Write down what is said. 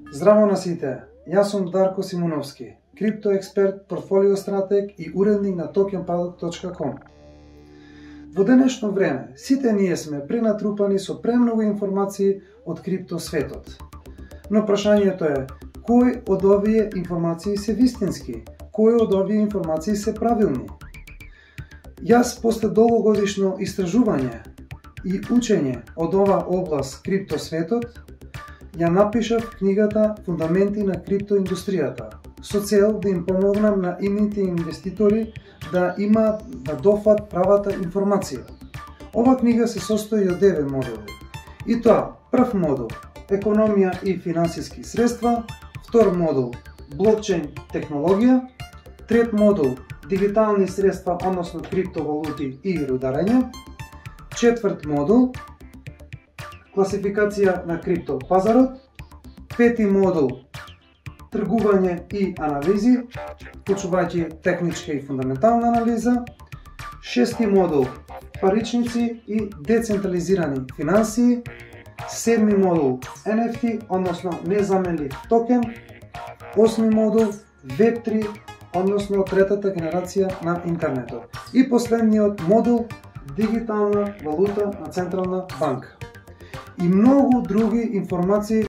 Здраво на сите, јас сум Дарко Симуновски, криптоексперт, портфолио стратег и уредник на tokenpaddock.com. Во денешно време, сите ние сме пренатрупани со премногу информации од криптосветот. Но прашањето е, кој од овие информации се вистински? Кој од овие информации се правилни? Јас после долгогодишно истражување и учење од ова област криптосветот, ја напишав книгата Фундаменти на криптоиндустријата, со цел да им помогнам на ините инвеститори да дофат правата информација. Ова книга се состои од 9 модули. И тоа, прв модул – економија и финансиски средства, втор модул – блокчейн технологија, трет модул – дигитални средства, односно криптовалути и рударење, четврт модул – класификација на криптопазарот, пети модул – тргување и анализи, вклучувајќи техничка и фундаментална анализа, шести модул – паричници и децентрализирани финансии, седми модул – NFT, односно незаменлив токен, осми модул – Web3, односно третата генерација на интернетот. И последниот модул – дигитална валута на Централна банка. И многу други информации